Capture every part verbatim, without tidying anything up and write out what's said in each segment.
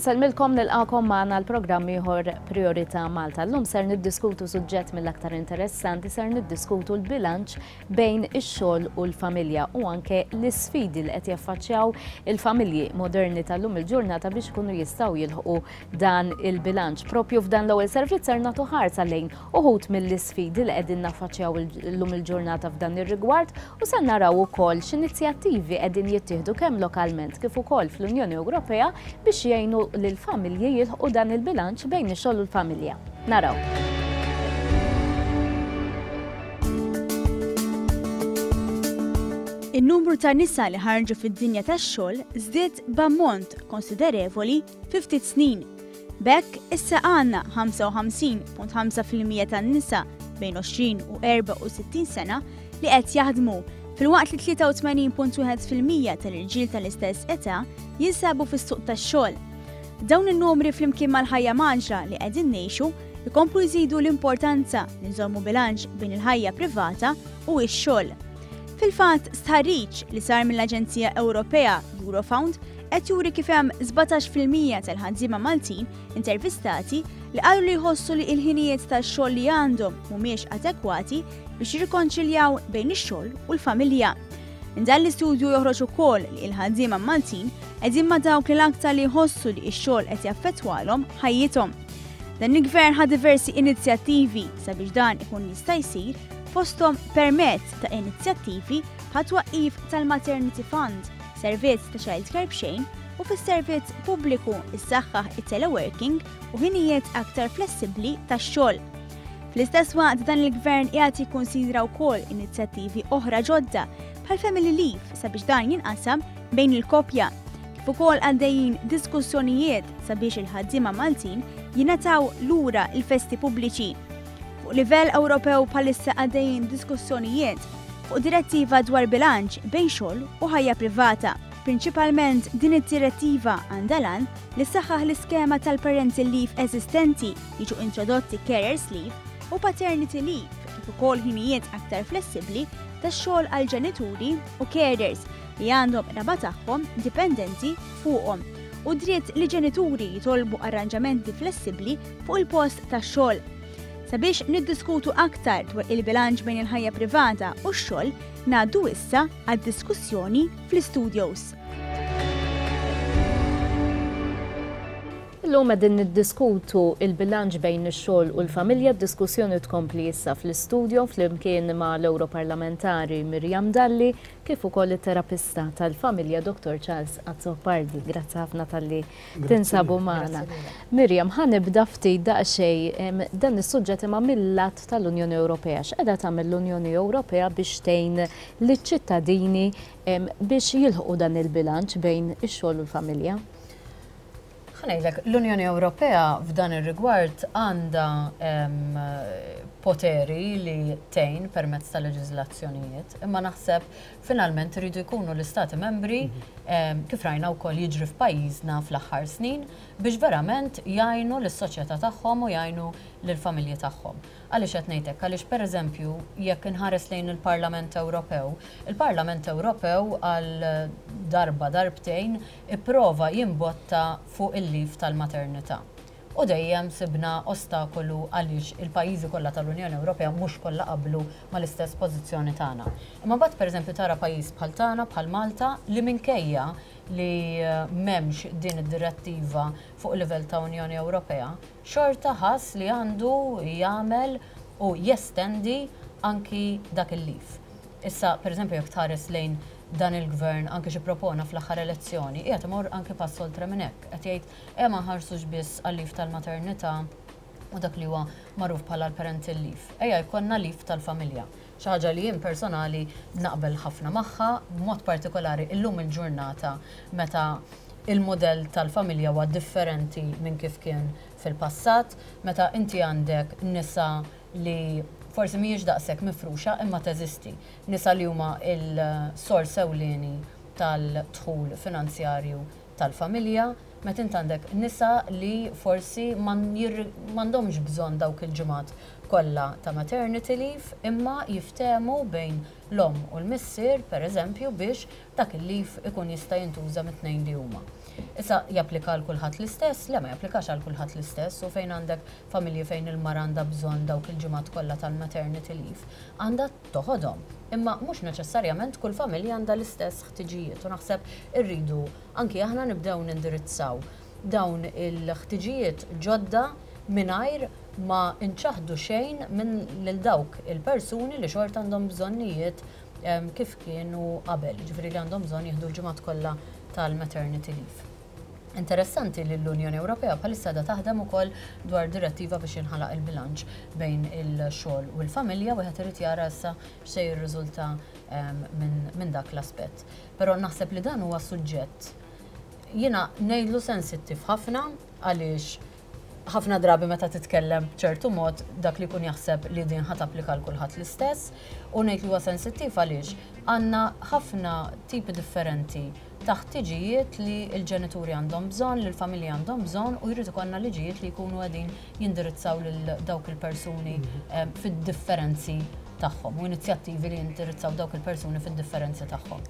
Insellmilkom, nilqagħkom magħna l-programm ieħor Priorità Malta. Llum ser niddiskutu suġġett mill-aktar interessanti, ser niddiskutu l-bilanċ bejn ix-xogħol u l-familja u anke l-isfidi li qed jaffaċċjaw il-familji moderni tal-lum il-ġurnata biex ikunu jistgħu jilħqu dan il-bilanċ. Propju f'dan l-ewwel servizz ser nagħtu ħarsa lejn uħud mill-isfidi li qegħdin naffaċċjaw illum il-ġurnata f'dan ir-rigward u se naraw ukoll x'inizjattivi qegħdin jittieħdu kemm lokalment kif ukoll fl-Unjoni Ewropea biex jgħinu lill-familji jilħqu dan il-bilanċ bejn ix-xogħol u l-familja. Naraw. In-numru ta' nisa li ħarġu fid-dinja tax-xogħol żdied b'ammont konsiderevoli fi ftit snin. B'hekk issa għandna ħamsa u ħamsin punt ħamsa fil-mija tan-nisa bejn għoxrin u erbgħa u sittin sena li qed jaħdmu, filwaqt li tlieta u tmenin punt wieħed fil-mija tal-irġiel tal-istess età jinsabu fis-suq tax-xogħol. Dawn in-numri, flimkien mal-ħajja mgħaġġla li qegħdin ngħixu, ikomplu jżidu l-importanza li nżommu bilanċ bejn il-ħajja privata u x-xogħol. Fil-fatt, stħarriġ li sar mill-Aġenzija Ewropea Eurofound qed juri kif hemm sbatax fil-mija tal-ħaddiema Maltin intervistati li qalu li jħossu li l-ħinijiet tax-xogħol li għandhom mhumiex adekwati biex jirrikonċiljaw bejn ix-xogħol u l-familja. Minn dan l-istudju joħroġ ukoll li l-ħaddiema Maltin qegħdin ma' dawk li l-aktar li jħossu li x-xogħol qed jaffettwalhom ħajjithom. Dan il-gvern ħa diversi inizjattivi sabiex dan ikun jista' jsir, fosthom permezz ta' inizjattivi bħat twaqqif tal-Maternity Fund, servizz ta' child care b'xejn u fis-servizz pubbliku issaħħaħ it-teleworking u ħinijiet aktar flessibbli tax-xogħol. Fl-istess waqt, dan il-gvern qiegħed jikkonsidra wkoll inizjattivi oħra ġodda bħal family leave sabiex dan jinqasam bejn il-koppja. Kif ukoll għaddejjin diskussjonijiet sabiex il-ħaddiema Maltin jingħataw lura il-festi pubbliċi. Fuq livell Ewropew bħalissa għaddejjin diskussjonijiet fuq direttiva dwar bilanċ bejn xogħol u ħajja privata. Prinċipalment, din id-direttiva għandha l-għan li ssaħħaħ l-iskema tal-parental leave eżistenti, jiġu introdotti carers leave u paternity leave, kif ukoll ħinijiet aktar flessibbli tax-xogħol għal ġenituri u carers li għandhom qraba tagħhom dipendenti fuqhom u dritt li ġenituri jitolbu arranġamenti flessibbli fuq il-post tax-xogħol. Sabiex niddiskutu aktar dwar il-bilanċ bejn il-ħajja privata u x-xogħol, ngħaddu issa għad-diskussjoni fl-studios. Illum qegħdin niddiskutu il-bilanċ bejn ix-xogħol u l-familja. Diskussjoni tkompli issa fl-istudio flimkien ma' l-Europarlamentari Miriam Dalli kif ukoll it-terapista tal-familja Doktor Charles Azzopardi. Grazzi ħafna talli tinsabu magħna. Miriam, ħa nibda ftit daqsxejn dan is-suġġett imma mill-lat tal-Unjoni Ewropea. X'qiegħda tagħmel l-Unjoni Ewropea biex tgħin liċ-ċittadini biex jilħqu dan il-bilanċ bejn ix-xogħol u l-familja? Ħa ngħidlek, l-Unjoni Ewropea f'dan ir-rigward għandha poteri li tgħin permezz ta' leġiżlazzjonijiet, imma naħseb finalment iridu jkunu l-istati membri, kif rajna wkoll jiġri f'pajjiżna fl-aħħar snin, biex verament jgħinu lis-soċjetà tagħhom u jgħinu lill-familji tagħhom. Għaliex qed ngħidlek? Għaliex, pereżempju, jekk inħares lejn il-Parlament Ewropew, il-Parlament Ewropew għal darba darbtejn ipprova jimbotta fuq il-leave tal-maternità. U dejjem sibna ostakolu għaliex il-pajjiżi kollha tal-Unjoni Ewropea mhux kollha qablu mal-istess pożizzjoni tagħna. Imma mbagħad, pereżempju, tara pajjiż bħal tagħna, bħal Malta, li minkejja li m'hemmx din id-direttiva fuq livell ta' Unjoni Ewropea, xorta ħass li għandu jagħmel u jestendi anki dak il-leave. Issa, per eżempju, jekk tħares lejn dan il-gvern, anke xi propona fl-aħħar elezzjoni, qiegħed imur anke pass oltre minn hekk. Qed jgħid eh ma nħarsux biss għal-leave tal-maternità u dak li huwa magħruf bħala l-parental leave. Ejja jkollna leave tal-familja. Xi ħaġa li jien personali naqbel ħafna magħha, b'mod partikolari illum il-ġurnata meta il-modell tal-familja huwa differenti minn kif kien fil-passat, meta inti għandek nisa li forsi mhijiex daqshekk mifruxa imma teżisti. Nisa li huma il-sors ewlieni tal-dħul finanzjarju tal-familja, meta int għandek nisa li forsi m'għandhomx bżonn dawk il-ġimgħat kollha ta' maternity leave, imma jiftehmu bejn l-omm u l-missier, per eżempju, biex dak il-leave ikun jista' jintuża mit-tnejn li huma. Issa japplika għal kulħadd l-istess? Le, ma japplikax għal kulħadd l-istess, u fejn għandek familji fejn il-mara għandha bżonn dawk il-ġimgħat kollha tal-maternity leave, għandha toħodhom. Imma mhux neċessarjament kull familja għandha l-istess ħtiġijiet u naħseb irridu anki aħna nibdew nindirizzaw dawn il-ħtiġijiet ġodda mingħajr ma nċaħdu xejn minn lil dawk il-persuni li xorta għandhom bżonnijiet kif kienu qabel, ġifieri li għandhom bżonn jieħdu l-ġimgħat kollha tal-maternity leave. Interessanti li l-Unjoni Ewropea bħalissa da taħdem ukoll dwar direttiva biex jinħalaq il-bilanċ bejn il-xogħol u l-familja, wieħed irid jara issa x'se jirriżulta minn dak l-aspett. Però naħseb li dan huwa suġġett jiena ngħidlu sensittiv ħafna, għaliex ħafna drabi meta titkellem b'ċertu mod dak li jkun jaħseb li din ħa tapplika l kulħadd l-istess, u ngħid li huwa sensittiv għaliex għandna ħafna tipi differenti ta' ħtiġijiet li l-ġenituri għandhom bżonn, li l-familji għandhom bżonn, u jrid ikollna liġijiet li jkunu qegħdin jindirizzaw lil dawk il-persuni fid-differenzi tagħhom u inizjattivi li jindirizzaw dawk il-persuni fid-differenzi tagħhom.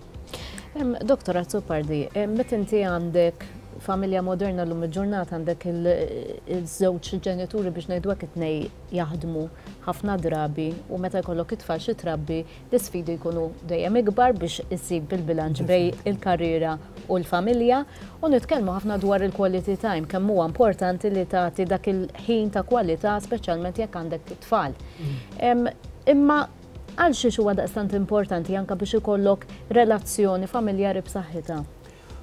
Doktor Azzopardi, meta inti għandek familja moderna l-lum il-ġurnata, għandek il-żewġ ġenituri, biex ngħidu hekk, it-tnejn jaħdmu ħafna drabi, u meta jkollok it-tfal xi trabbi, l-isfidi jkunu dejjem ikbar biex issib il-bilanċ bejn il-karriera u l-familja, u nitkellmu ħafna dwar il-quality time, kemm huwa importanti li tagħti dak il-ħin ta' kwalità, speċjalment jekk għandek it-tfal. Imma għal xiex huwa daqstant importanti anke biex ikollok relazzjoni familjari b'saħħitha?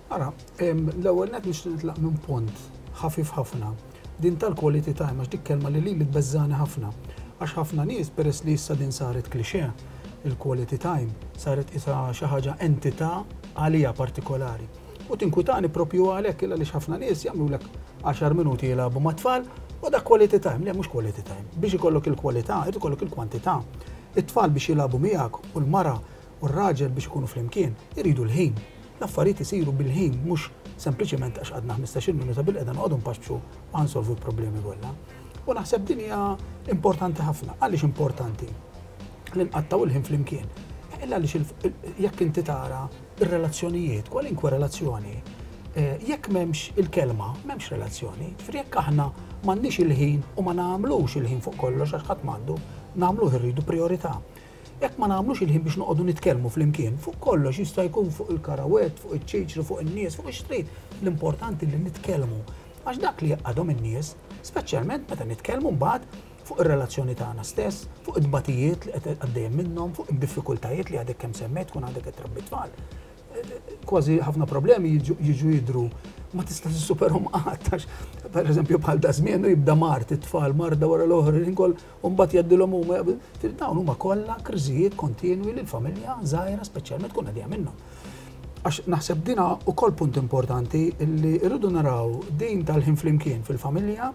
Ara, l-ewwel net nixtieq nitlaq minn punt ħafif ħafna. Din tal-quality time, għax dik kelma li li tbeżżani ħafna. Għax ħafna nies, peress li issa din saret cliché, il-quality time saret isa xi ħaġa entità għalija partikolari. U tinkwitani propju għalhekk, illa li ħafna nies jagħmlulek għaxar minuti jilagħbu mat-tfal u dak quality time. Le, mhux quality time. Biex ikollok il-kwalità, irid ikollok il-kwantità. It-tfal biex jilagħbu miegħek u l-mara u r-raġel biex ikunu flimkien iridu l-ħin. L-affarijiet isiru bil-ħin, mhux sempliċement għax għadna ħmistax-il minuta bil-qeda noqogħdu npaxxu u nsolvu l-problemi kollha. U naħseb din hija importanti ħafna. Għaliex importanti li nqattaw il-ħin flimkien? Illa għaliex jekk inti tara ir-relazzjonijiet, kwalinkwe relazzjoni, jekk m'hemmx il-kelma, m'hemmx relazzjoni. Ġifieri jekk aħna m'għandniex il-ħin u ma nagħmlux il-ħin fuq kollox, għax ħadd m'għandu, nagħmluh irridu priorità. Jekk ma nagħmlux il-ħin biex noqogħdu nitkellmu flimkien fuq kollox, jista' jkun fuq il-karawett, fuq iċ-ċiċri, fuq in-nies, fuq ix-xtrid, l-importanti li nitkellmu. Għax dak li jaqgħadhom in-nies, speċjalment meta nitkellmu mbagħad fuq ir-relazzjoni tagħna stess, fuq it-tbatijiet li qed għaddejjem minnhom, fuq id-diffikultajiet li għadek kemm semmejt, tkun għadek qed trabbi tfal. Kważi ħafna problemi jiġu jidru ma tista' tissuperhom qatt, għax pereżempju bħal da żmien jibda mart it-tfal, marda wara l-oħra, inkol u mbagħad jgħaddilhom huma. Dawn huma kollha kriżijiet kontinwi li l-familja żgħira speċjalment tkun għaddejja minnhom. Għax naħseb dina ukoll punt importanti li rridu naraw din tal-ħin flimkien fil-familja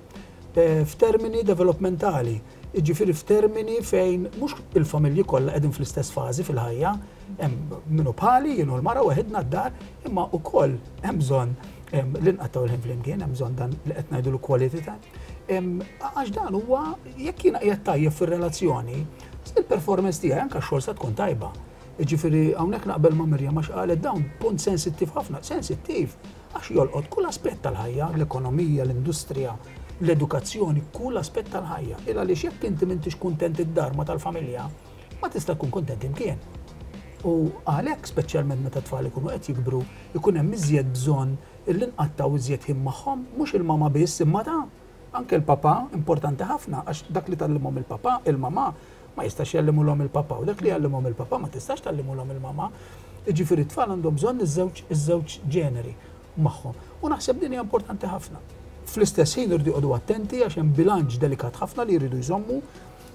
f'termini developmentali, jiġifieri f'termini fejn mhux il-familji kollha qegħdin fl-istess fażi fil-ħajja, hemm minnu bħali, jien u l-mara waħedna d-dar, imma wkoll hemm bżonn li nqattaw il-ħin flimkien, hemm bżonn dan li qed ngħidu l-quality time. Għax dan huwa, jekk jiena qiegħed tajjeb fir-relazzjoni, il-performance tiegħi anke x-xogħol sa tkun tajba. Jiġifieri hawnhekk naqbel ma' Mirjam għax qalet dawn punt sensittiv ħafna, sensittiv għax jolqot kull aspett tal-ħajja, l-ekonomija, l-industrija, l-edukazzjoni, kull aspett tal-ħajja. Il għaliex jekk inti m'intix kuntent id-dar ma tal-familja, ma tista' tkun kuntent imkien. U għalhekk speċjalment meta tfal ikunu qed jikbru, ikun hemm iżjed bżonn illi nqattaw iżjed ħin magħhom, mhux il-mama biss imma ta' anke l-papa importanti ħafna, għax dak li tgħallimhom il-papa, il-mama ma jistax jgħallimulhom il-papa, u dak li jgħallimhom il-papa ma tistax tgħallimulhom il-mama. Jiġifieri t-tfal għandhom bżonn iż-żewġ iż-żewġ ġeneri magħhom. U naħseb din hija importanti ħafna. Fl-istess ħin irridu joqogħdu attenti għax hemm bilanċ delikat ħafna li jridu jżommu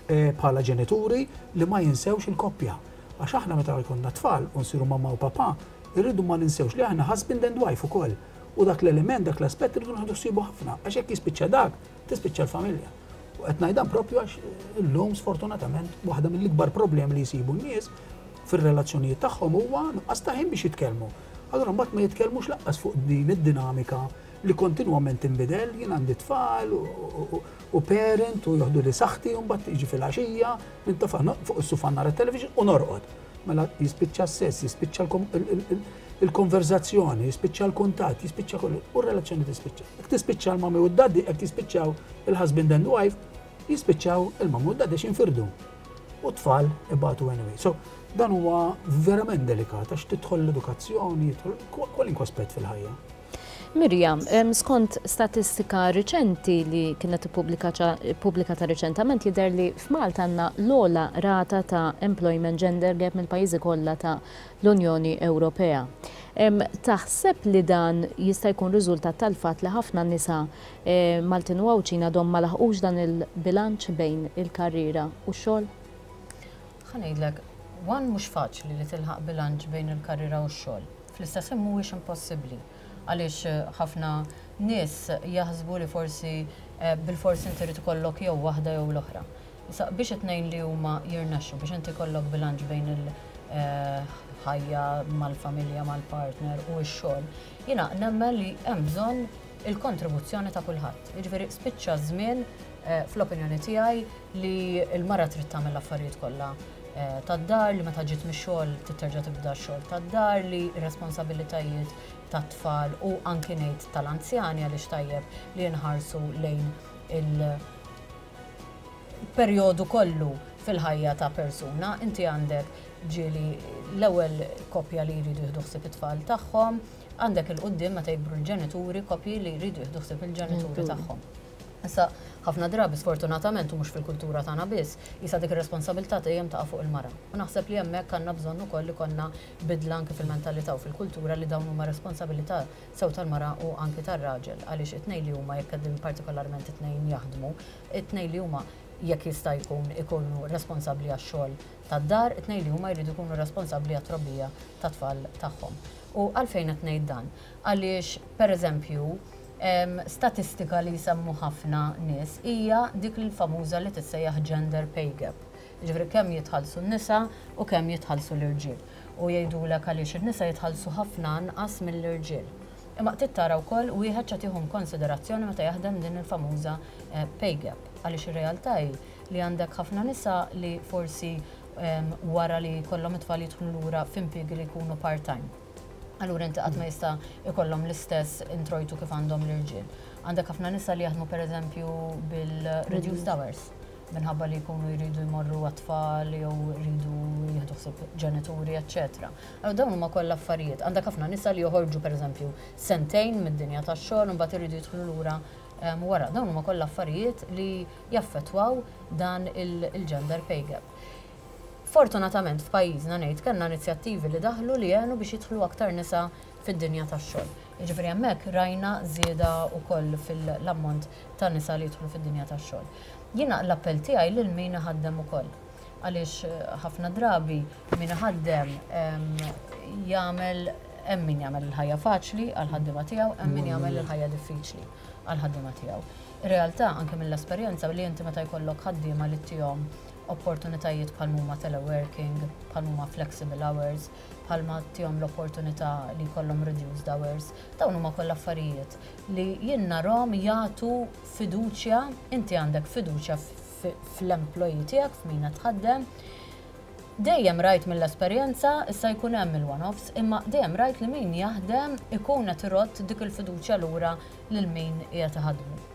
bħala ġenituri li ma jinsewx il-koppja. Għax aħna meta jkollna tfal u nsiru mamma u papa, irridu ma ninsewx li aħna husband and wife ukoll. U dak l-element, dak l-aspett irridu nieħdu ħsiebu ħafna, għax jekk jispiċċa dak, tispiċċa l-familja. U qed ngħid dan propju għax illum sfortunatament waħda mill-ikbar problemi li jsibu n-nies fir-relazzjonijiet tagħhom huwa nuqqas ta' ħin biex jitkellmu. Allura mbagħad ma jitkellmux laqqas fuq din id-dinamika li kontinwament tinbidel, jien għandi tfal u parent u joħdu li saħħti u mbagħad jiġi fil-għaxija, nintafa' fuq is-sufan nara television u norqod. Mela jispiċċa s-sess, jispiċċa Il-konverzazzjoni, jispiċċa l-kuntatt, jispiċċa kollu, u r-relazzjoni tispiċċa. Jekk tispiċċa l-mummy u d-daddy, jekk tispiċċaw il-husband and wife, jispiċċaw il-mummy u d-daddy x'infirdu. U tfal ibatu anyway. So, dan huwa verament delikat għax tidħol l-edukazzjoni, jidħol kwalinkwa aspett fil-ħajja. Mirjam, skont statistika riċenti li kienet ippubblikata riċentament, jidher li f'Malta għandna l-ogħla rata ta' employment gender gap mill-pajjiżi kollha ta' l-Unjoni Ewropea. Taħseb li dan jista' jkun riżultat tal-fatt li ħafna nisa eh, Maltin u Għawdxin għadhom ma laħqux dan il-bilanċ bejn il-karriera u x-xogħol? Ħa ngħidlek, one, mhux faċli li tilħaq bilanċ bejn il-karriera u x-xogħol. Fl-istess mhuwiex impossibbli għaliex eh, ħafna nies jaħsbu li forsi eh, bil-forsi inti trid ikollok jew waħda jew l-oħra. Issa biex it-tnejn li huma jirnexxu, biex inti jkollok bilanċ bejn il-ħajja mal-familja, mal-partner u x-xogħol, jiena nemmen li hemm bżonn il-kontribuzzjoni ta' kulħadd. Jiġifieri spiċċa żmien eh, fl-opinjoni tiegħi li l-mara trid tagħmel l-affarijiet kollha eh, tad-dar, li meta ġiet mix-xogħol terġa' tibda x-xogħol tad-dar, li responsabilitajiet tat-tfal u anki ngħid tal-anzjani, għaliex tajjeb li nħarsu lejn il-perjodu kollu fil-ħajja ta' persuna. Inti għandek ġieli l-ewwel koppja li jridu jieħdu ħsieb it-tfal tagħhom, għandek 'il quddiem meta jikbru l-ġenituri, koppji li jridu jieħdu ħsieb il-ġenituri tagħhom. Issa, ħafna drabi, sfortunatament, u mhux fil-kultura tagħna biss, jisa dik ir-responsabilità dejjem taqa' fuq il-mara. U naħseb li hemmhekk għandna bżonn ukoll li konna bidla anke fil-mentalità u fil-kultura li dawn huma responsabilità sew tal-mara u anke tar-raġel, għaliex it-tnejn li huma, jekk qegħdin partikolarment it-tnejn jaħdmu, it-tnejn li huma jekk jista' jkun ikunu responsabbli għax-xogħol tad-dar, it-tnejn li huma jridu jkunu responsabbli għat-trobbija tat-tfal tagħhom. U għalfejn qed ngħid dan? Għaliex, pereżempju, statistika li jsemmu ħafna nies hija dik il-famuża li tissejjaħ gender pay gap. Ġifieri kemm jitħallsu n-nisa u kemm jitħallsu l-irġiel. U jgħidulek għaliex in-nisa jitħallsu ħafna anqas mill-irġiel. Imma trid tara wkoll wieħed x'qed jieħu konsiderazzjoni meta jaħdem din il-famuża eh, pay gap. Għaliex ir-realtà hi li għandek ħafna nisa li forsi wara li kollhom it-tfal jidħlu lura f'impjiegi li jkunu part-time. Allura inti qatt ma jista' ikollhom l-istess introjtu kif għandhom l-irġiel. Għandek ħafna nisa li jaħdmu, pereżempju, bil-reduced hours minħabba li jkunu jridu jmorru għat-tfal jew jridu jieħdu ħsieb ġenituri, eċċetera. Allura dawn huma kollha affarijiet. Għandek ħafna nisa li joħorġu, pereżempju, sentejn mid-dinja tax-xogħol u mbagħad iridu jidħlu lura wara. Dawn huma kollha affarijiet li jaffettwaw dan il-gender pay gap. Fortunatament f'pajjiżna ngħid kellna inizjattivi li daħlu li għenu biex jidħlu aktar nisa fid-dinja tax-xogħol. Jiġifieri hemmhekk rajna żieda wkoll fil-ammont ta' nisa li jidħlu fid-dinja tax-xogħol. Jiena l-appell tiegħi lil min iħaddem ukoll. Għaliex eh, ħafna drabi min iħaddem jagħmel, hemm min jagħmel il-ħajja faċli għal ħaddiema tiegħu, hemm min jagħmel il-ħajja diffiċli għal ħaddiema tiegħu. Ir-realtà anke mill-esperjenza li inti meta jkollok ħaddiema li ttihom opportunitajiet bħal huma teleworking, bħal huma flexible hours, bħalma ttihom l-opportunità li jkollhom reduced hours, dawn huma kollha affarijiet li jien narahom jagħtu fiduċja, inti għandek fiduċja fl-employee tiegħek, f'min tħaddem. Dejjem rajt mill-esperjenza, issa jkun hemm il-one-offs, imma dejjem rajt li min jaħdem ikun qed irodd dik il-fiduċja lura lil min qiegħed iħadmu.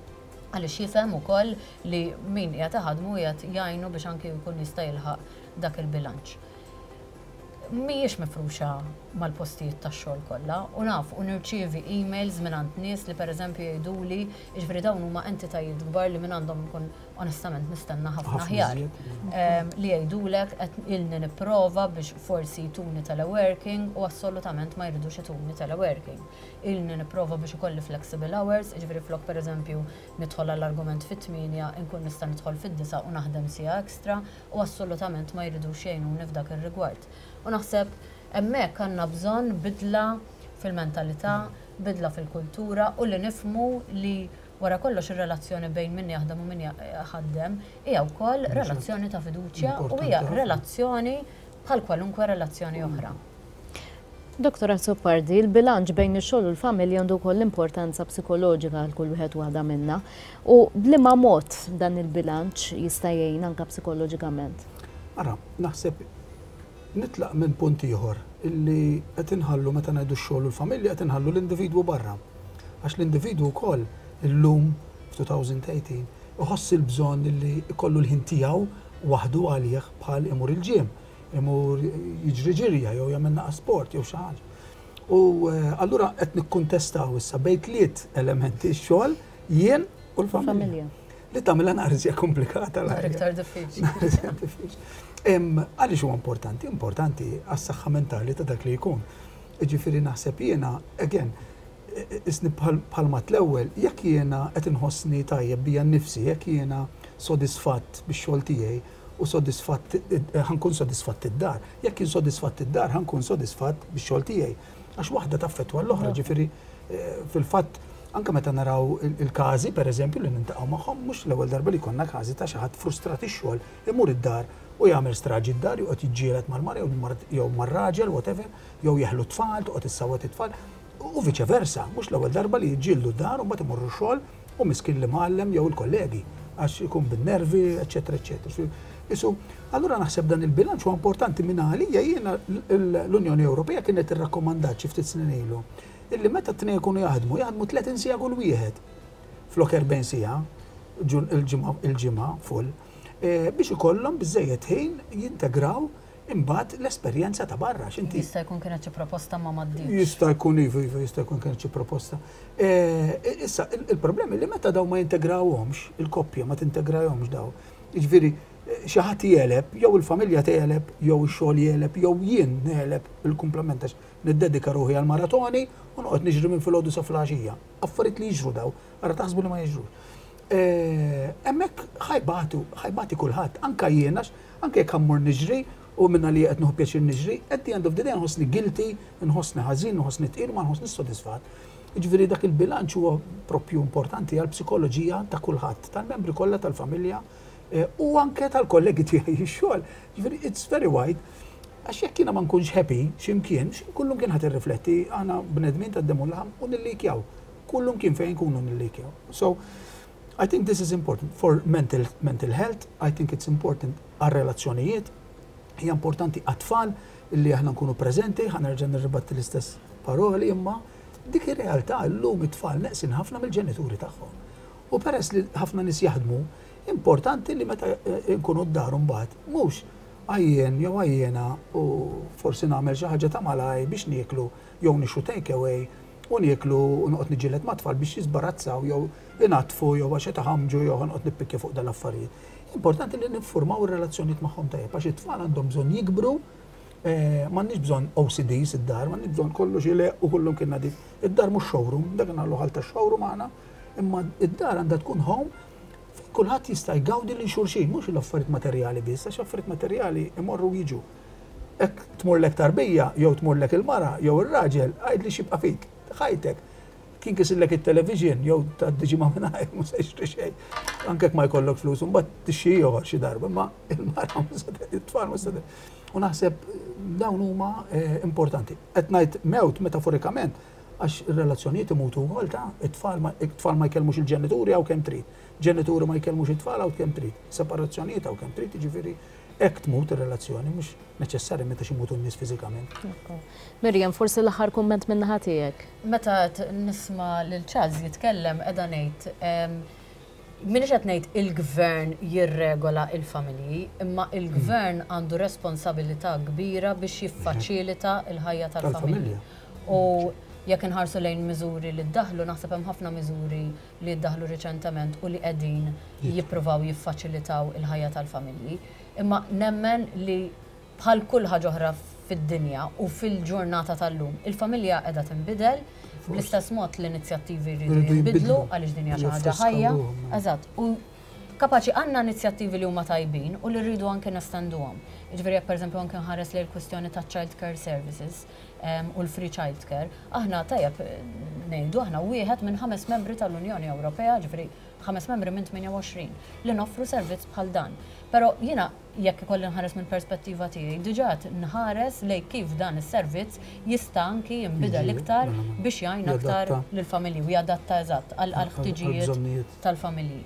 Għaliex jifhem ukoll li min qiegħed iħadmu qiegħed jgħinu biex anki jkun jista' jilħaq dak il-bilanċ. Mhijiex mifruxa mal-postijiet tax-xogħol kollha u naf u nirċievi emails minn għand nies li, pereżempju, jgħiduli, jiġifieri dawn huma entitajiet kbar li minn għandhom nkun onestament nistenna ħafna aħjar. Li jgħidulek qed ilni nipprova biex forsi jtuni teleworking u assolutament ma jridux ituni teleworking. Ilni nipprova biex ikolli flexible hours, jiġifieri flok, pereżempju, nidħol għall-argument fit-tmienja nkun nista' nidħol fid-disgħa u naħdem siegħa extra u assolutament ma jridux jgħinuni f'dak ir-rigward. U naħseb hemmhekk għandna bżonn bidla fil-mentalità, bidla fil-kultura u li nifhmu li wara kollox ir-relazzjoni bejn min jaħdem u min jaħdem hija wkoll relazzjoni ta' fiduċja u hija relazzjoni bħal kwalunkwe relazzjoni oħra. Doktor Azzopardi, il-bilanċ bejn ix-xogħol u l-familja għandu wkoll importanza psikoloġika għal kull wieħed waħda minna. U b'liema mod dan il-bilanċ jista' jgħin anke psikoloġikament? Ara, naħseb Nitlaq minn punt ieħor illi qed inħallu, meta ngħidu x-xogħol u l-familja, qed inħallu l-individwu barra. Għax l-individwu wkoll illum f'elfejn u tmintax iħoss il-bżonn illi ikollu l-ħin tiegħu waħdu għalih, bħal imur il-gym, imur jiġri ġirja jew jagħmel naqa sport jew xi ħaġa. U eh, allura qed nikkuntestaw issa bejn tliet elementi: x-xogħol, jien u l-familja. Familja. Li tagħmilha naqra komplikata l-ħajja. Iktar diffiċli. Diffiċli. Em, Għaliex huwa importanti? Importanti għas-saħħa mentali ta' dak li jkun. Ġifieri naħseb jiena, again, isni bħalma l-ewwel, jekk jiena qed inħossni tajjeb bija nnifsi, jekk jiena sodisfatt bix-xogħol tiegħi u sodisfatt, ħa nkun sodisfatt id-dar. Jekk jien sodisfatt id-dar, ħa nkun sodisfatt bix-xogħol tiegħi. Għax waħda taffettwa l-oħra, ġifieri eh, fil-fatt anke meta naraw il- il-każi, per eżempju, li niltaqgħu magħhom, mhux l-ewwel darba li konna każi ta' xi ħadd frustrat ix-xogħol, imur id-dar u jagħmel straġi d-dar, joqgħod jiġġieled mal-mara jew mar- jew mar-raġel, whatever, jew jeħlu tfal, toqgħod issawwat it-tfal. U viċe versa, mhux l-ewwel darba li jiġġieldu d-dar u mbagħad imorru xogħol u miskin l-imgħallem jew il-kollegi għax ikun bin-nervi, eċetera, eċetera. Isu, allura naħseb dan il-bilanċ huwa importanti. Minn għalija jiena l-Unjoni Ewropea kienet irrakkomandat xi ftit snin ilu illi meta t-tnejn ikunu jaħdmu, jaħdmu tletin siegħa kull wieħed flok erbgħin siegħa il-ġimgħa il-ġimgħa full eh, biex ikollhom biżejjed ħin jintegraw imbagħad l-esperjenza ta' barra. X'inti Jista' jkun kienet xi proposta ma m'għaddietx. Jista' jkun, iva, iva, jista' jkun kienet xi proposta. Eh, Issa, il- il-problemi li meta daw ma jintegrawhomx, il-koppja ma tintegrahomx daw. Jiġifieri eh, xi ħadd jegħleb, jew il-familja tegħleb, jew ix-xogħol jegħleb, jew jien negħleb il-kumplament għax niddedika ruħi għal maratoni u noqgħod niġri minn filgħodu sa filgħaxija. Affarijiet li jiġru daw, ara taħsbu li ma jiġrux. Eh, Hemmhekk ħa jbatu, ħa jbati kulħadd, anka jien, għax anke jekk ħa mmur niġri u minna li qed nieħu pjaċir niġri, at the end of the day nħossni guilty, nħossni ħażin, nħossni tqil, ma nħossni sodisfatt. Jiġifieri dak il-bilanċ huwa propju importanti għal psikoloġija ta' kulħadd, tal-membri kollha tal-familja eh, u anke tal-kollegi tiegħi x-xogħol. Jiġifieri it's very wide. Għax jekk jiena ma nkunx happy x'imkien, kullum kien ħadd irrifletti, aħna bnedmin ta' demm u laħam u nillikjaw. Kullum kien fejn nkunu nillikjaw. So, I think this is important for mental, mental health, I think it's important għal relazzjonijiet, hija importanti għat-tfal illi aħna nkunu preżenti, ħa nerġa' nirribatti l-istess paroli, imma dik ir-realtà, llum it-tfal neqsin ħafna mill-ġenituri tagħhom. U peress li ħafna nies jaħdmu, importanti li meta eh, nkunu d-dar mbagħad mhux għajjen jew għajjena u forsi nagħmel xi ħaġa ta' malaj biex nieklu jew nixtru take away u nieklu u noqgħod niġġieled mat-tfal biex jiżbarazzaw jew inaddfu jew għax qed iħamġu jew noqgħod nippikkja fuq dal-affarijiet. Importanti li niffurmaw ir-relazzjonijiet magħhom tajjeb għax it-tfal għandhom bżonn jikbru, eh, m'għandniex bżonn O C Ds id-dar, m'għandniex bżonn kollox ileqq u kullum kien nadif. Id-dar mhux showroom, dak nagħmlu ħal ta' showroom aħna, imma id-dar għandha tkun home fejn kulħadd jista' jgawdi lil xulxin, mhux l-affarijiet materjali biss, għax affarijiet materjali imorru jiġu. Jekk tmurlek tarbija, jew tmurlek il-mara, jew ir-raġel, għajd li xibqa fik, ħajtek. Kien kisillek il-television, jew ta' diġi ma mingħajr, mhux se jixtri xejn. Anke jekk ma jkollok flus, mbagħad tixxi ieħor xi darba, imma il-mara mhux se it-tfal mhux se U naħseb dawn huma eh, importanti. Qed ngħid mewt metaforikament għax ir-relazzjonijiet imutu wkoll ta' it-tfal ma it-tfal ma jkellmux il-ġenituri hawn kemm trid. Ġenituri ma jkellmux it-tfal hawn kemm trid. Separazzjonijiet hawn kemm trid, jiġifieri hekk tmut ir-relazzjoni, mhux neċessarjament għax imutu n-nies fiżikament. Miriam, forsi l-aħħar kumment minn naħa tiegħek. Meta t- nisma' lil Charles jitkellem qiegħda ngħid em, Minix qed ngħid il-gvern jirregola il-familji, imma il-gvern għandu responsabilità kbira biex jiffaċilita il-ħajja tal-familji. Tal-familja. U jekk inħarsu lejn miżuri li ddaħlu, naħseb hemm ħafna miżuri li ddaħlu riċentement u li qegħdin jippruvaw jiffaċilitaw il-ħajja tal-familji. Imma nemmen li bħal kull ħaġa oħra fid-dinja u fil-ġurnata tal-lum, il-familja qiegħda tinbidel, bl-istess mod l-inizjattivi jridu Jridu jinbidlu jinbidlu. għaliex din hija xi ħaġa Jiffriskaw ħajja. ruħhom. Eżatt. U kapaċi għandna inizjattivi li huma tajbin u li rridu anke nestenduhom. Jiġifieri jekk pereżempju anke nħares lejn il-kwistjoni ta' child care services em, u l-free child care, aħna tajjeb eh, ngħidu aħna wieħed minn ħames membri tal-Unjoni Ewropea, ġifieri ħames membri minn tmienja u għoxrin li noffru servizz bħal dan. Però jiena jekk ikolli nħares minn perspettiva tiegħi, diġà qed nħares lejn kif dan is-servizz jista' anki jinbidel Jiġi, iktar mela, mela. biex jgħin aktar Jadatta. lill-familji u jadatta eżatt għal Għal- ħtiġijiet għal bżonnijiet. tal-familji.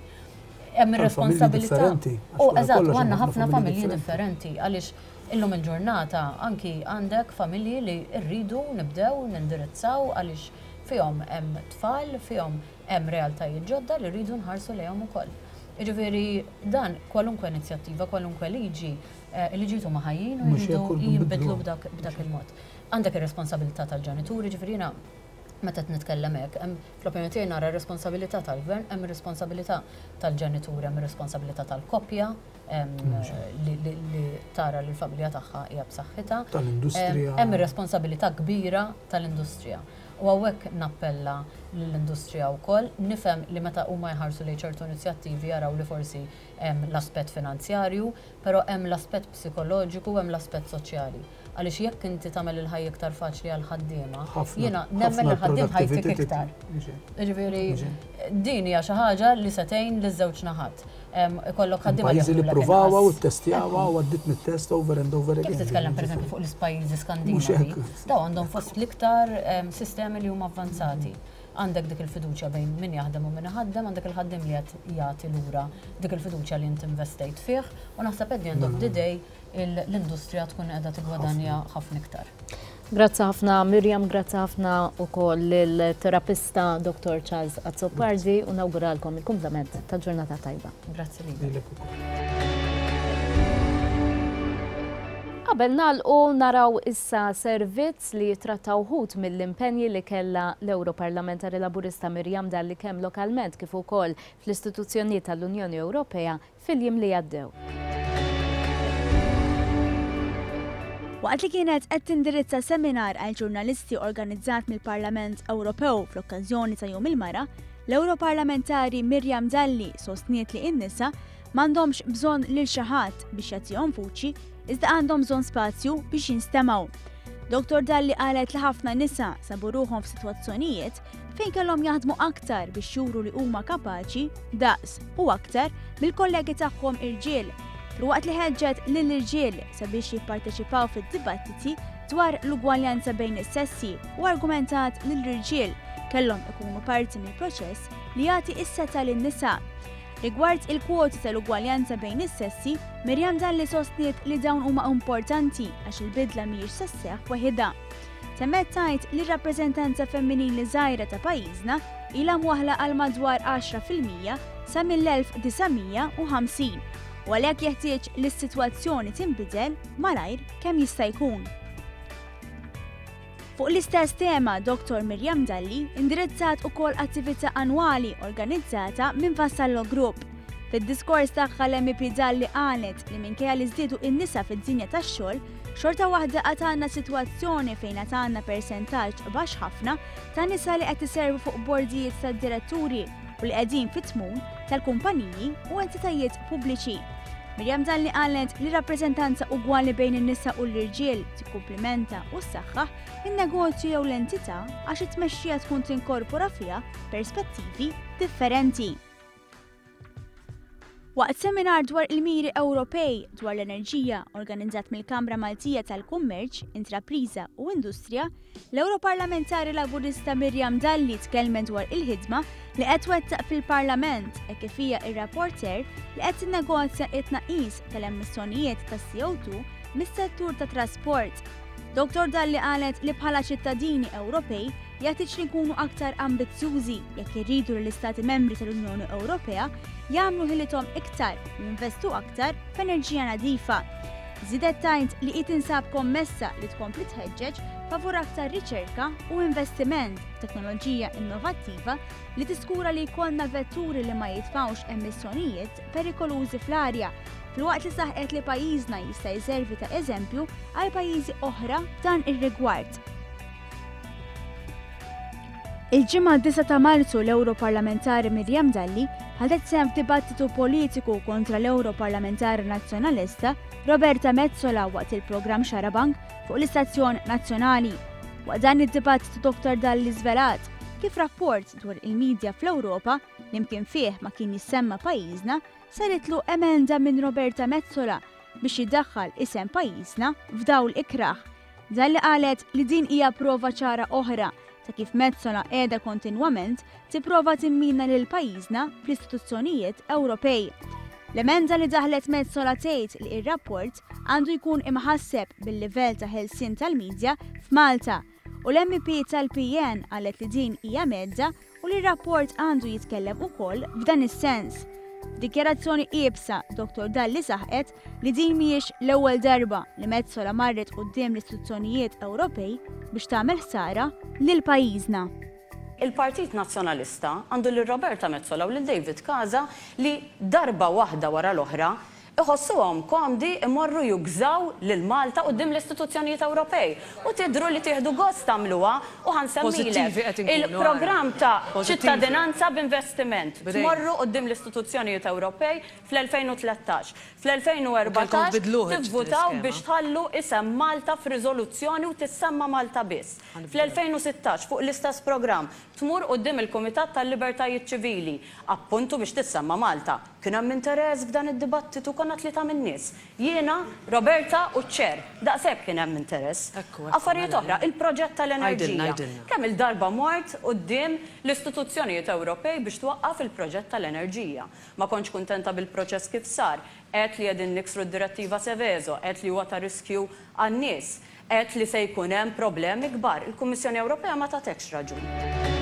Hemm ir-responsabilità. U eżatt, u għandna ħafna familji differenti għaliex illum il-ġurnata anki għandek familji li rridu nibdew nindirizzaw għaliex fihom hemm tfal, fihom hemm realtajiet ġodda li rridu nħarsu lejhom ukoll. Jiġifieri dan kwalunkwe inizjattiva, kwalunkwe liġi, il-liġijiet huma ħajjin u jridu jinbidlu b'dak il-mod. Għandek ir-responsabilità tal-ġenituri, ġifieri jiena meta qed nitkellem hekk, hemm fl-opinjoni tiegħi nara r-responsabilità tal-gvern, hemm ir-responsabilità tal-ġenituri, hemm ir-responsabilità tal-koppja li tara li l-familja tagħha hija b'saħħitha. Tal-industrija. Hemm ir-responsabilità kbira tal-industrija. U hawnhekk nappella lill-industrija wkoll, nifhem li meta huma jħarsu lejn ċertu inizjattivi jaraw li forsi hemm l-aspett finanzjarju, però hemm l-aspett psikoloġiku u hemm l-aspett soċjali. Għaliex jekk inti tagħmel il-ħajja iktar faċli għal ħaddiema, jiena nemmen li ħaddiem ħajtik iktar. Ġifieri din hija xi ħaġa li se tgħin liż-żewġ naħat. Ikollok ħaddiema pajjiżi li ppruvawha u ttestjawha u għaddiet mit-test over and over again. Kif titkellem pereżempju fuq l-pajjiżi Skandinavi, daw għandhom fost l-iktar sistemi li huma avvanzati. Għandek dik il-fiduċja bejn min jaħdem u min iħaddem, għandek il-ħaddiem li qed jagħti lura dik il-fiduċja li inti investejt fih, u naħseb at the end of the day l-industrija tkun qiegħda tigwadanja ħafna iktar. Grazzi ħafna Miriam, grazzi ħafna wkoll lill-terapista Doktor Charles Azzopardi u nawguralkom il-kumplament ta' ġurnata tajba. Grazzi lilek. Qabel nagħlqu naraw issa servizz li jitratta wħud mill-impenji li kellha l-Europarlamentari Laburista Miriam Dalli kemm lokalment kif ukoll fl-istituzzjonijiet tal-Unjoni Ewropea fil-jiem li għaddew. Waqt li kienet qed tindirizza seminar għal ġurnalisti organizzat mill-Parlament Ewropew fl-okkażjoni ta' Jum il-Mara, l-Europarlamentari Miriam Dalli sostniet li n-nisa m'għandhomx bżonn lil xi ħadd biex jagħtihom vuċi, iżda għandhom bżonn spazju biex jinstemgħu. Doktor Dalli qalet li ħafna nisa sabu ruħhom f'sitwazzjonijiet fejn kellhom jaħdmu aktar biex juru li huma kapaċi, daqs u aktar mill-kollegi tagħhom irġiel, filwaqt li ħeġġet lill-irġiel sabiex jipparteċipaw fid-dibattiti dwar l-ugwaljanza bejn is-sessi u argumentat li l-irġiel kellhom ikunu parti mill-proċess li jagħti s-setgħa lin-nisa. Rigward il-kwoti tal-ugwaljanza bejn is-sessi, Miriam Dalli sostniet li dawn huma importanti għax il-bidla mhijiex se sseħħ waħedha. Temmet tgħid li r-rappreżentanza femminili żgħira ta' pajjiżna ilha mwaħla għal madwar għaxra fil-mija sa mill-elf disa' mija u ħamsin u għalhekk jeħtieġ li s-sitwazzjoni tinbidel malajr kemm jista' jkun. Fuq l-istess tema, Doktor Miriam Dalli indirizzat ukoll attività annwali organizzata minn Vassallo Group. Fid-diskors tagħha l-M P Dalli qalet li minkejja li żdiedu n-nisa fid-dinja tax-xogħol, xorta waħda għad għandna sitwazzjoni fejn għad għandna persentaġġ baxx ħafna ta' nisa li qed iservu fuq bordijiet tad-diretturi u li qegħdin fit-tmun tal-kumpaniji u entitajiet pubbliċi. Miriam Dalli qalet li rappreżentanza ugwali bejn in-nisa u l-irġiel tikkumplimenta u ssaħħaħ in-negozju jew l-entità għax it-tmexxija tkun tinkorpora fiha perspettivi differenti. Waqt seminar dwar il-miri Ewropej dwar l-enerġija organizzat mill-Kamra Maltija tal-Kummerċ, Intrapriża u Industrija, l-Europarlamentari Laburista Miriam Dalli tkellmet dwar il-ħidma li qed twettaq fil-Parlament e kif hija ir-rapporter li qed tinnegozja t-tnaqqis tal-emissjonijiet tas-C O two mis-settur ta' trasport. Doktor Dalli qalet li bħala ċittadini Ewropej jeħtieġ li nkunu aktar ambizzjużi jekk irridu li l-Istati Membri tal-Unjoni Ewropea jagħmlu ħilithom iktar u jinvestu aktar f'enerġija nadifa. Żiedet tgħid li hi tinsab kommessa li tkompli tħeġġeġ favur aktar riċerka u investiment f'teknoloġija innovattiva li tiskura li jkollna vetturi li ma jitfgħux emissjonijiet perikolużi fl-arja, filwaqt li saħqet li pajjiżna jista' jservi ta' eżempju għal pajjiżi oħra f'dan ir-rigward. Il-ġimgħa disa' ta' Marzu l-Europarlamentari Miriam Dalli ħadet sehem f'dibattitu politiku kontra l-Europarlamentari Nazzjonalista Roberta Metsola waqt il-programm Xarabank fuq l-Istazzjon Nazzjonali. Waqt dan id-dibattitu Doktor Dalli żvelat kif rapport dwar il-medja fl-Ewropa li mkien fih ma kien jissemma pajjiżna saritlu emenda minn Roberta Metsola biex jiddaħħal isem pajjiżna f'dawl ikrah. Dalli qalet li din hija prova ċara oħra ta' kif Metsola qiegħda kontinwament tipprova timmina lil pajjiżna fl-istituzzjonijiet Ewropej. L-emenda li daħlet Metsola tgħid li ir-rapport għandu jkun imħasseb bil-livell ta' ħelsien tal-medja f'Malta u l-M P tal-P N qalet li din hija medda u li r-rapport għandu jitkellem ukoll f'dan is-sens. Dikjarazzjoni iebsa, Dottor Dalli saħqet li din mhijiex l-ewwel darba li Metsola marret quddiem l-istituzzjonijiet Ewropej biex tagħmel ħsara lil pajjiżna. Il-Partit Nazzjonalista għandu lil Roberta Metsola u lil David Casa li darba waħda wara l-oħra iħossuhom komdi imorru jużaw lil Malta quddiem l-istituzzjonijiet Ewropej. U tidru li tieħdu gost tagħmluha u ħa nsemmilek il-programm ta' ċittadinanza b'investiment. Tmorru quddiem l-istituzzjonijiet Ewropej fl-elfejn u tlettax. Fl-elfejn u erbatax tivvutaw biex tħallu isem Malta f'riżoluzzjoni u tissemma Malta biss. Fl-elfejn u sittax fuq l-istess programm tmur quddiem il-Kumitat tal-Libertajiet Ċivili, appuntu biex tissemma Malta. Kien hemm interess f'dan id-dibattitu, konna tlieta min-nies. Jiena, Roberta u ċ-chair. Daqshekk kien hemm interess. Affarijiet oħra, il-proġett tal-enerġija. Kemm il-darba mort quddiem l-istituzzjonijiet Ewropej biex twaqqaf il-proġett tal-enerġija? Ma kontx kuntenta bil-proċess kif sar. Għedt li qegħdin niksru d-direttiva Seveso, għedt li huwa ta' riskju għan-nies, għedt li se jkun hemm problemi kbar. Il-Kummissjoni Ewropea ma tatekx raġun.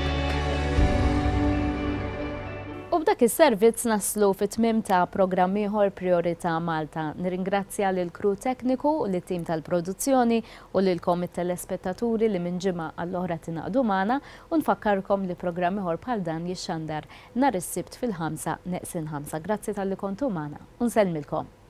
U b'dak is-servizz naslu fit-tmim ta' programm ieħor Priorità Malta. Nirringrazzja lil crew tekniku u lit-tim tal-produzzjoni u lilkom it-telespettaturi li minn ġimgħa għall-oħra tingħaqdu magħna u nfakkarkom li programm ieħor bħal dan jixxandar nhar is-Sibt fil-ħamsa neqsin ħamsa. Grazzi talli kontu magħna u nsellmilkom.